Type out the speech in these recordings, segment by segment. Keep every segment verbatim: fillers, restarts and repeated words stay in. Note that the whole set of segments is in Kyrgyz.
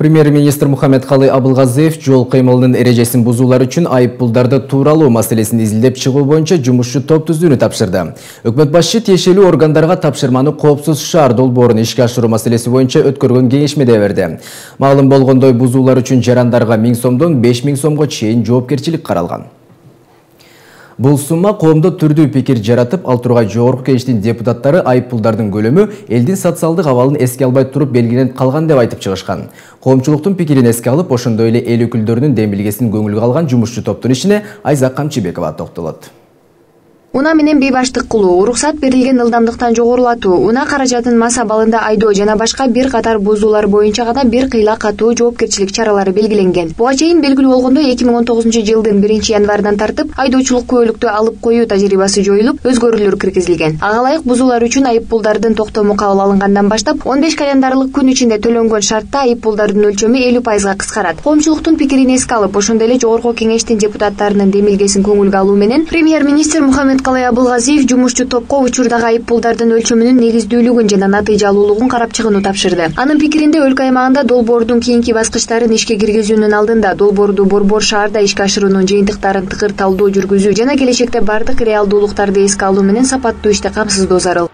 Премьер-министр Мухаммедкалый Абылгазиев жол кыймылынын эрежесин бузуулар үчүн айыппулдарды тууралуу маселесин изилдеп чыгуу боюнча жумушчу топ түзүүнү тапшырды. Өкмөт башчы тиешелүү органдарга тапшырманы коопсуз шаар долбоорун ишке ашыруу маселеси боюнча өткөргөн кеңешмеде берди. Маалым болгондой бузуулар үчүн жарандарга миң сомдон беш миң сомго чейин жоопкерчилик каралган. Бул сумма коомдо түрдүү пикир жаратып, ал тургай жогорку кеңештин депутаттары айыппулдардын көлөмү элдин социалдык абалын эске албай туруп белгиленип калган деп айтып чыгышкан. Коомчулуктун пикирин эске алып, ошондой эле эл өкүлдөрүнүн демилгесин көңүлгө алган жумушчу топтун ишине Айзак Камчыбекова токтолот. Уна менен бейбаштык кылуу, уруксат берилген ылдамдыктан жогорулатуу, уна каражатын мас абалында айдоо жана башка бир катар бузуулар боюнча гана бир кыйла катуу жоопкерчилик чаралары белгиленген. Буга чейин белгилүү болгондой эки миң он тогузунчу жылдын биринчи январынан тартып айдоочулук күбөлүктү алып коюу тажрыйбасы жоюлуп, өзгөрүүлөр киргизилген. Ага ылайык бузуулар үчүн айыппулдардын токтому кабыл алынгандан баштап он беш календарлык күн ичинде төлөнгөн шартта айыппулдардын өлчөмү элүү пайызга кыскарат. Коомчулуктун пикирин эске алып, ошондой эле жогорку кеңештин депутаттарынын демилгесин көңүлгө алуу менен премьер-министр Мухаммед Калай Абылгазиев жумушчу топко учурдагы айыппулдардын өлчөмүнүн негиздүүлүгүн жана натыйжалуулугун карап чыгууну тапшырды. Анын пикиринде өлкө аймагында долбоордун кийинки баскычтарын ишке киргизүүнүн алдында долбоорду борбор шаарда ишке ашыруунун жыйынтыктарын тыкыр талдоо жүргүзүү жана келечекте бардык реалдуулуктарды эске алуу менен сапаттуу ишти камсыздоо зарыл.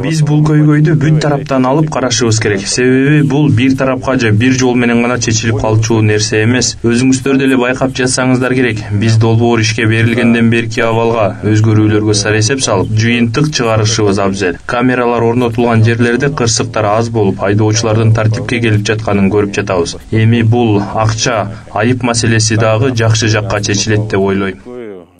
Биз бул көйгөйдү бүт тараптан алып карашыбыз керек. Себеби бул бир тарапка же бир жол менен гана чечилип калчу нерсе эмес. Өзүңүздөр деле байкап жатсаңыздар керек. Биз долбоор ишке берилгенден берки абалга өзгөрүүлөргө сарэсеп салып, жыйынтык чыгарышыбыз абзел. Камералар орнотулган жерлерде кырсыктар аз болуп, айдоочулардын тартипке келип жатканын көрүп жатабыз. Эми бул акча, айып маселеси дагы жакшы жакка чечилет деп ойлойм.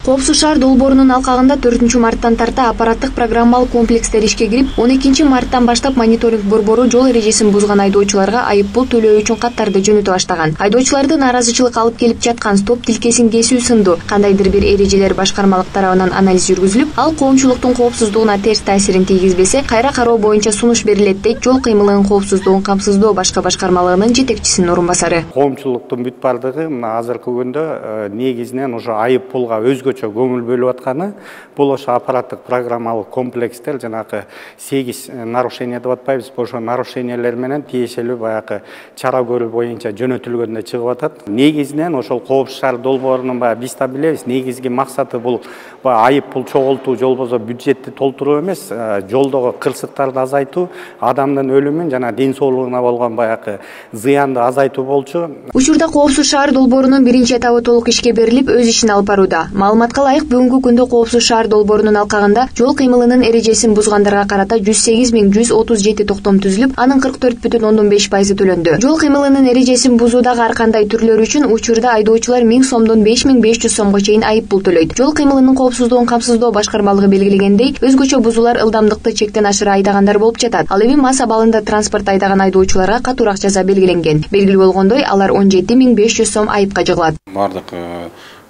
Коопсуз шаар долбоорунун алкагында төртүнчү марттан тарта аппараттык программалык комплекстер ишке кирип, он экинчи марттан баштап мониторинг борбору жол эрежесин бузган айдоочуларга айыппул төлөө үчүн каттарды жөнөтө баштаган. Айдоочуларды нааразычылык алып келип жаткан стоп тилкесин кесүү сындуу кандайдыр бир эрежелер башкармалык тарабынан анализ жүргүзүлүп, ал коомчулуктун коопсуздугуна терс таасирин тийгизбесе, кайра кароо боюнча сунуш берилет дейт жол кыймылынын коопсуздугун камсыздоо башкы башкармалыгынын жетекчисинин орун басары. Коомчулуктун бүт бардыгы мына азыркы күндө негизинен уже айыппулга өзгө көңүл бөлүп атканы бул ошо аппараттык программалык комплекстер жанагы сегиз нарушение деп атпайбыз, ошо нарушениялер менен тиешелүү баягы чара көрүү боюнча жөнөтүлгөндө чыгып атат. Негизинен ошол Коопсуз шаар долбоорунун баягы биз да билебиз, негизги максаты бул айыппул чогултуу, же болбосо бюджетти толтуруу эмес, жолдогу кырсыктарды азайтуу, адамдын өлүмүн жана ден соолугуна болгон баягы зыянды азайтуу болчу. Учурда Коопсуз шаар долбоорунун биринчи этабы толук ишке берилип, өз ишин алып барууда. Маалыматка ылайык, бүгүнкү күндө Коопсуз шаар долбоорунун алкагында жол кыймылынын эрежесин бузгандарга карата жүз сегиз миң жүз отуз жети токтом түзүлүп, анын кырк төрт бүтүн ондон беш пайызы төлөндү. Жол кыймылынын эрежесин бузуудагы ар кандай түрлөрү үчүн учурда айдоочулар миң сомдон беш миң беш жүз сомго чейин айыппул төлөйт. Жол кыймылынын коопсуздугун камсыздоо башкармалыгы белгилегендей, өзгөчө бузуулар ылдамдыкты чектен ашыра айдагандар болуп жатат. Ал эми мас абалында транспорт айдаган айдоочуларга катуураак жаза белгиленген. Белгилүү болгондой, алар он жети миң беш жүз сом айыпка жыгылат. Бардык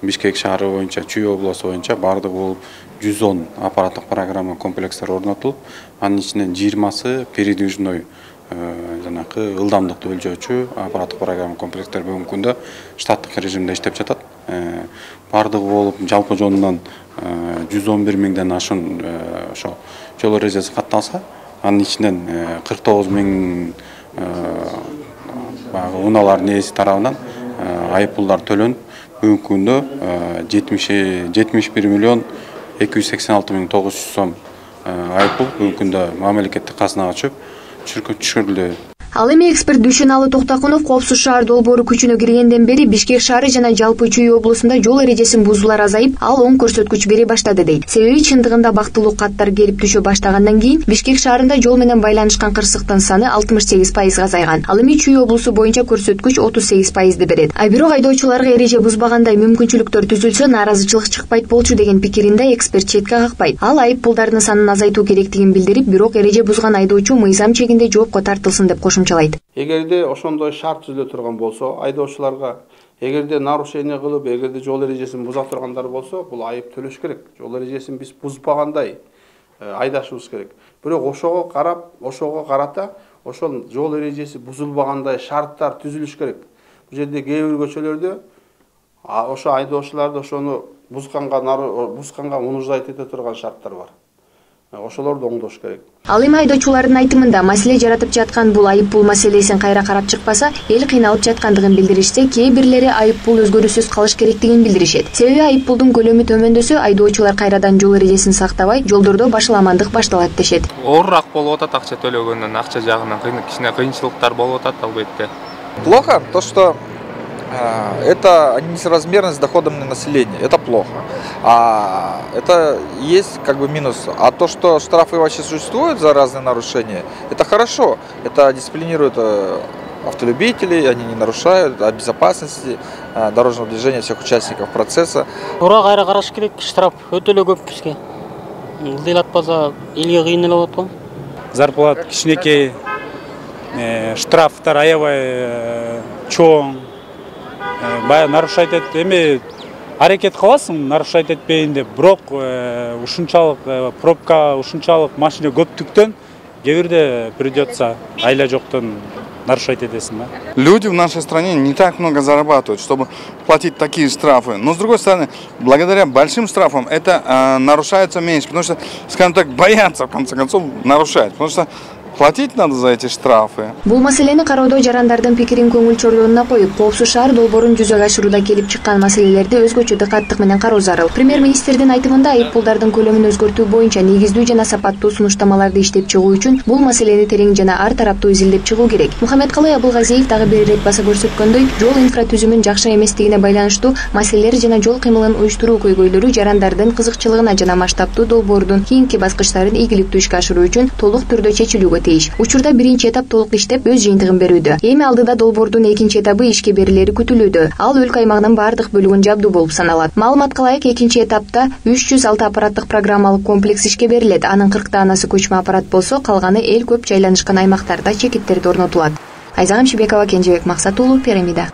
Бишкек шаары боюнча, Чүй обласу боюнча бардык болуп жүз он аппараттык программа комплекстер орнотулуп, анын ичинен жыйырмасы передвижной жанакы ылдамдыкты өлчөөчү аппараттык программа комплекстер бүгүнкү күндө штаттык режимде иштеп жатат. Бардыгы болуп жалпы жонунан жүз он бир миңден ашуун ошо жол эрежеси катталса, анын ичинен кырк тогуз миң баягы унаалардын ээси тарабынан айыппулдар төлөнүп, бүгүнкү күндө жетимиш бир миллион эки жүз сексен алты миң тогуз жүз сом айыппул бүгүнкү күндө мамлекеттик казынага түшүп түшүрүлдү. Ал эми эксперт Дүйшөналы Токтакунов Коопсуз шаар долбоору күчүнө киргенден бери Бишкек шаары жана жалпы Чүй облусунда жол эрежесин бузуулар азайып, ал оң көрсөткүч бери баштады дейт. Себеби чындыгында бактылуу каттар келип түшө баштагандан кийин Бишкек шаарында жол менен байланышкан кырсыктын саны алтымыш сегиз пайызга азайган. Ал эми Чүй облусу боюнча көрсөткүч отуз сегиз пайызды берет. А бирок айдоочуларга эреже бузбагандай мүмкүнчүлүктөр түзүлсө, нааразычылык чыкпайт болчу деген пикиринде эксперт четке какпайт. Ал айыппулдардын санын азайтуу керектигин билдирип, бирок эреже бузган айдоочу мыйзам чегинде жоопко тартылсын деп кошумчалайт. Эгерде ошондой шарт түзүлө турган болсо, айдоочуларга эгерде нарушение кылып, эгерде жол эрежесин буза тургандар болсо, бул айып төлөш керек. Жол эрежесин биз бузбагандай айдашыбыз керек. Бирок ошого карап, ошого карата ошол жол эрежеси бузулбагандай шарттар түзүлүш керек. Бул жерде кээ бир көчөлөрдө ошо айдоочуларды ошону бузганга бузганга мунуждайт эте турган шарттар бар. ошолорду оңдош керек. Ал эми айдоочулардын айтымында маселе жаратып жаткан бул айып пул маселесин кайра карап чыкпаса, эл кыйналып жаткандыгын билдиришсе, кээ бирлери айып пул өзгөрүүсүз калыш керектигин билдиришет. Себеби айып пулдун көлөмү төмөндөсө, айдоочулар кайрадан жол эрежесин сактабай, жолдордо башаламандык башталат дешет. Оорураак болуп атат акча төлөгөндөн, акча жагынан кичине кыйынчылыктар болуп атат албетте. Плохо то, что это несоразмерность с доходами населения. Это плохо. А это есть как бы минус. А то, что штрафы вообще существуют за разные нарушения, это хорошо. Это дисциплинирует автолюбителей, они не нарушают о безопасности дорожного движения всех участников процесса. Ура кайра караш керек, штраф өтө эле көп бизге. Ылдый атпаса элге кыйын эле болот го. Зарплата кичинекей, штрафтар аябай чоң. Бая нарушать этип эми аракет кыласың, нарушать этпейин деп, бирок ушунчалык пробка, ушунчалык машина көптүктөн кээ бирде придется айла жоктон нарушать этесиң да. Люди в нашей стране не так много зарабатывают, чтобы платить такие штрафы. Но с другой стороны, благодаря большим штрафам это э, нарушается меньше, потому что, скажем так, боятся в конце концов нарушать, потому что платить надо за эти штрафы. Бул маселени кароодо жарандардын пикирин көңүл чордонуна коюп, коопсуз шаар долбоорун жүзөгө ашырууда келип чыккан маселелерди өзгөчө дыкаттык менен кароо зарыл. Премьер-министрдин айтымында айып пулдардын көлөмүн өзгөртүү боюнча негиздүү жана сапаттуу сунуштамаларды иштеп чыгуу үчүн бул маселени терең жана ар тараптуу изилдеп чыгуу керек. Мухаммедкалый Абылгазиев дагы бир ирет баса көрсөткөндөй, жол инфратүзүмүн жакшы эместигине байланыштуу маселелер жана жол кыймылын уюштуруу көйгөйлөрү жарандардын кызыкчылыгына жана масштабтуу долбоордун кийинки баскычтарын ийгиликтүү ишке ашыруу үчүн толук түрдө чечилүүгө тийиш. Учурда биринчи этап толук иштеп өз жыйынтыгын берүүдө. Эми алдыда долбоордун экинчи этабы ишке берилери күтүлүүдө. Ал өлкө аймагынын бардык бөлүгүн жабдуу болуп саналат. Маалыматка ылайык, экинчи этапта үч жүз алты аппараттык программалык комплекс ишке берилет. Анын кырктаанасы көчмө аппарат болсо, калганы эл көп жайланышкан аймактарда чекиттерди орнотулат. Айзагым Шибекова, Кенжебек Максат уулу, Пирамида.